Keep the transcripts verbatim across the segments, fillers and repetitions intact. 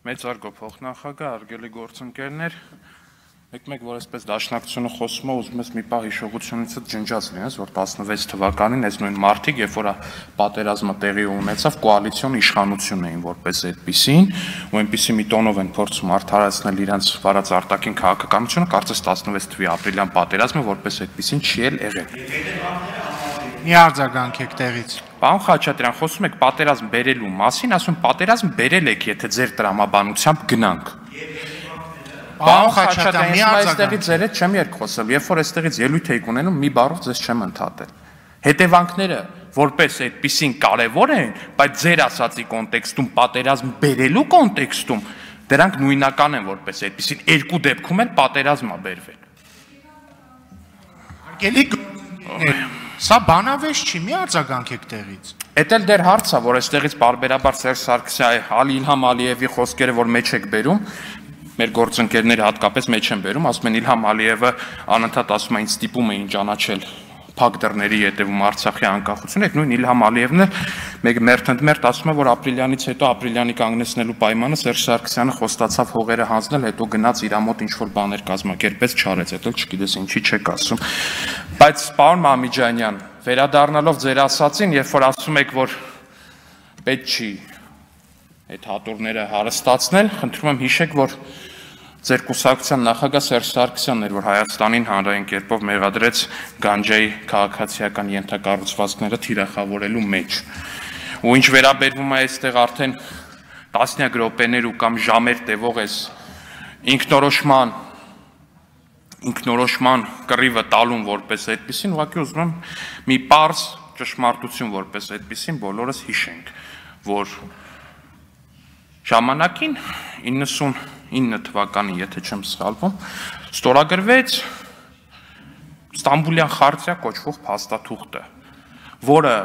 Մեծարգո փոխնախագահ, հարգելի գործընկերներ, մեկ-մեկ որ այսպես դաշնակցությունը խոսում է, ուզում ես մի պահ հիշողությունից ջնջած լինես, որ տասնվեց թվականին այս նույն մարտիկ, երբ որ պատերազմը տեղի ունեցավ, կոալիցիոն իշխանություն էին որպես այդպիսին, ու այնպիսի մի տոնով են փորձում արդարացնել իրենց վարած արտաքին քաղաքականությունը, կարծես տասնվեց թվականի ապրիլյան պատերազմը որպես այդպիսին չի էլ եղել։ Մի արձագանքեք տեղից։ Պարոն Խաչատրյան, խոսում եք պատերազմ բերելու մասին, ասում պատերազմ բերել եք, եթե ձեր տրամաբանությամբ գնանք։ Պարոն Խաչատրյան, մի արձագանք։ Ձեր հետ չեմ երկխոսել, երբ որ այստեղից ելույթ եք ունենում, մի բառով ձեզ չեմ ընդհատել։ Հետևանքները որպես այդպիսին կարևոր են, բայց ձեր ասացի կոնտեքստում, պատերազմ բերելու կոնտեքստում, դրանք նույնական են որպես այդպիսին, երկու դեպքում էլ պատերազմ է բերվել։ Հարգելի գործընկերներ, սա բանավեճ չի, մի արձագանքեք տեղից։ Էդ էլ դեռ հարց է, որ այստեղից բարբերաբար Սերժ Սարգսյանի, Իլհամ Ալիևի խոսքերը, որ մեջ եք բերում, մեր գործընկերները հատկապես մեջ են բերում, ասում են Իլհամ Ալիևը անընդհատ ասում է ինձ ստիպում էին ճանաչել փակ դռների ետևում Արցախի անկախությունը, այդ նույն Իլհամ Ալիևն էլ մեկ մերթ ընդ մերթ ասում է, որ ապրիլյանից հետո ապրիլյանի կանգնեցնելու պայմանը Սերժ Սարգսյանը խոստացավ հողերը հանձնել, հետո գնաց իր մոտ ինչ-որ բաներ կազմակերպեց, չարեց, այդ էլ չգիտես ինչի չեք ասում։ Բայց պարոն Մամիջանյան, վերադառնալով ձեր ասացին, երբ որ ասում եք, որ պետք չի այդ հատորները հարստացնել, խնդրում եմ հիշեք, որ ձեր կուսակցության նախագահ Սերժ Սարգսյանն էր, որ Հայաստանին հանրային կերպով մեղադրեց գանջայի քաղաքացիական ենթակառուցվածքները թիրախավորելու մեջ։ Ու ինչ վերաբերվում է այստեղ արդեն տասնյակ րոպեներ ու կամ ժամեր տևող էս ինքնորոշման ինքնորոշման կռիվը տալուն որպես այդպիսին, ուղղակի ուզում եմ մի պարզ ճշմարտություն որպես այդպիսին բոլորս հիշենք, որ ժամանակին իննսունինը թվականին, եթե չեմ սխալվում, ստորագրվեց Ստամբուլյան խարտիա կոչվող փաստաթուղթը, որը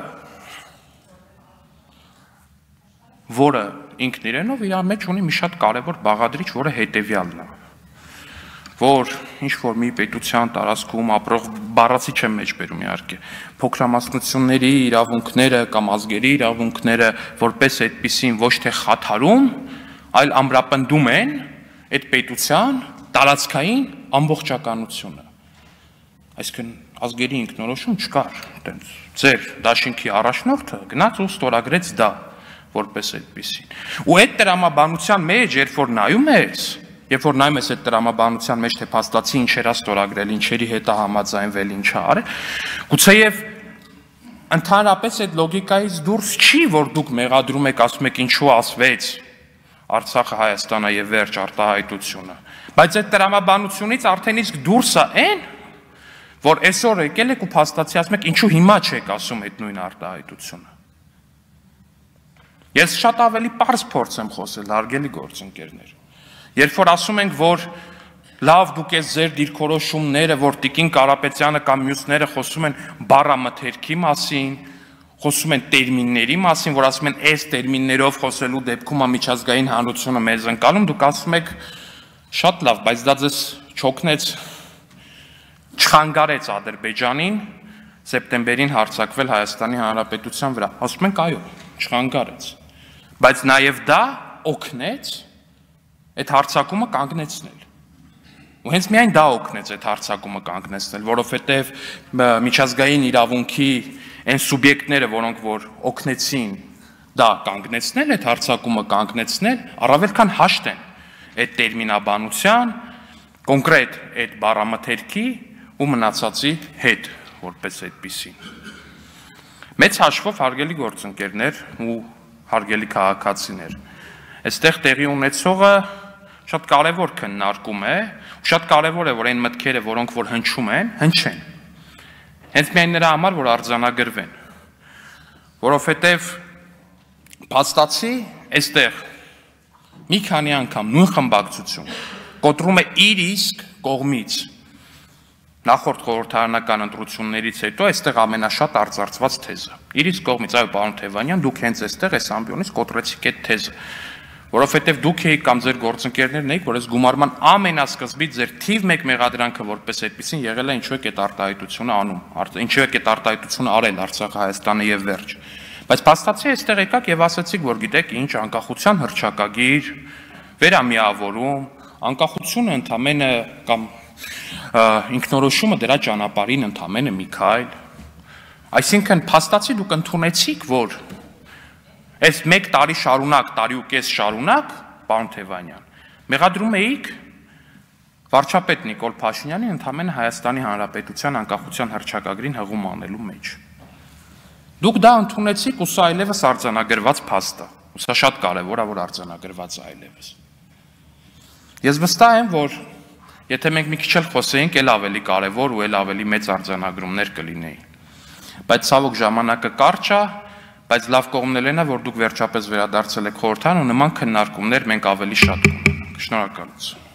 որը ինքն իրենով իր մեջ ունի մի շատ կարևոր բաղադրիչ, որը հետևյալն է, որ ինչ-որ մի պետության տարածքում ապրող բառացի չեմ մեջ բերում իհարկե, փոքրամասնությունների իրավունքները կամ ազգերի իրավունքները որպես այդպիսին ոչ թե խաթարում, այլ ամրապնդում են այդ պետության տարածքային ամբողջականությունը։ Այսինքն ազգերի ինքնորոշում չկար, այտենց ձեր դաշինքի առաջնորդը գնաց ու ստորագրեց դա որպես այդպիսին։ Ու այդ տրամաբանության մեջ, երբ որ նայում ես, երբ որ նայում ես այդ տրամաբանության մեջ, թե փաստացի ինչեր է ստորագրել, ինչերի հետ է համաձայնվել, ինչ է արել, գուցեև ընդհանրապես այդ լոգիկայից դուրս չի, որ դուք մեղադրում եք, ասում եք ինչու ասվեց Արցախը, Հայաստանը եւ վերջ արտահայտությունը, բայց այդ տրամաբանությունից արդեն իսկ դուրս է այն, որ այսօր եկել եք ու փաստացի ասում եք ինչու հիմա չեք ասում այդ նույն արտահայտությունը։ Ես շատ ավելի պարզ փորձ եմ խոսել, հարգելի գործընկերներ։ Երբ որ ասում ենք, որ լավ դուք ես ձեր դիրքորոշումները, որ Տիկին Կարապետյանը կամ մյուսները խոսում են բառամթերքի մասին, խոսում են տերմինների մասին, որ ասում են այս տերմիններով խոսելու դեպքում միջազգային հանրությունը մեզ ընկալում, դուք ասում եք շատ լավ, բայց դա ձեզ չօգնեց, չխանգարեց Ադրբեջանին սեպտեմբերին հարձակվել Հայաստանի Հանրապետության վրա։ Ասում ենք այո, չխանգարեց, բայց նաև դա օգնեց այդ հարձակումը կանգնեցնել։ Ու հենց միայն դա օգնեց այդ հարձակումը կանգնեցնել, որովհետև միջազգային իրավունքի այն սուբյեկտները, որոնք որ օգնեցին դա կանգնեցնել, այդ հարձակումը կանգնեցնել, առավել քան հաշտ են այդ տերմինաբանության, կոնկրետ այդ բառամթերքի ու մնացածի հետ, որպես այդպիսին։ Մեծ հաշվով հարգելի գործընկերներ ու հարգելի քաղաքացիներ, այստեղ տեղի ունեցողը շատ կարևոր քննարկում է, շատ կարևոր է, որ այն մտքերը, որոնք որ հնչում են, հնչեն։ Հենց միայն նրա համար, որ արձանագրվեն, որովհետև փաստացի այստեղ մի քանի անգամ նույն խմբակցություն կոտրում է իր իսկ կողմից նախորդ խորհրդարանական ընտրություններից հետո այստեղ ամենաշատ արծարծված թեզը։ Իր իսկ կողմից, այո, պարոն Թևանյան, դուք հենց այստեղ այս ամբիոնից կոտրեցիք այդ թեզը, որովհետև դուք եք կամ ձեր գործընկերներն եք, որ այս գումարման ամենասկզբից ձեր թիվ մեկ մեղադրանքը որպես այդպեսին եղել է ինչու եք այդ արտահայտությունը անում, ինչու եք այդ արտահայտությունը արել Արցախը, Հայաստանը եւ վերջ։ Բայց փաստացի այստեղ եկաք եւ ասացիք, որ գիտեք ինչ, անկախության հռչակագիր, վերամիավորում, անկախությունը ընդամենը կամ ինքնորոշումը դրա ճանապարհին ընդամենը մի քայլ։ Այսինքն փաստացի դուք ընդունեցիք, որ այս մեկ տարի շարունակ, տարի ու կես շարունակ, պարոն Թևանյան, մեղադրում էիք վարչապետ Նիկոլ Փաշինյանին ընդամենը Հայաստանի Հանրապետության անկախության հռչակագրին հղում անելու մեջ։ Դուք դա ընդունեցիք ու սա այլևս արձանագրված փաստ է։ Սա շատ կարևոր է, որ արձանագրված է այլևս։ Ես վստահ եմ, որ եթե մենք մի քիչ էլ խոսեինք, էլ ավելի կարևոր ու էլ ավելի մեծ արձանագրումներ կլինեին։ Բայց ցավոք ժամանակը կարճ է, բայց լավ կողմն էլ է, որ դուք վերջապես վերադարձել եք խորհրդարան ու նման քննարկումներ մենք ավելի շատ կունենանք։ Շնորհակալություն։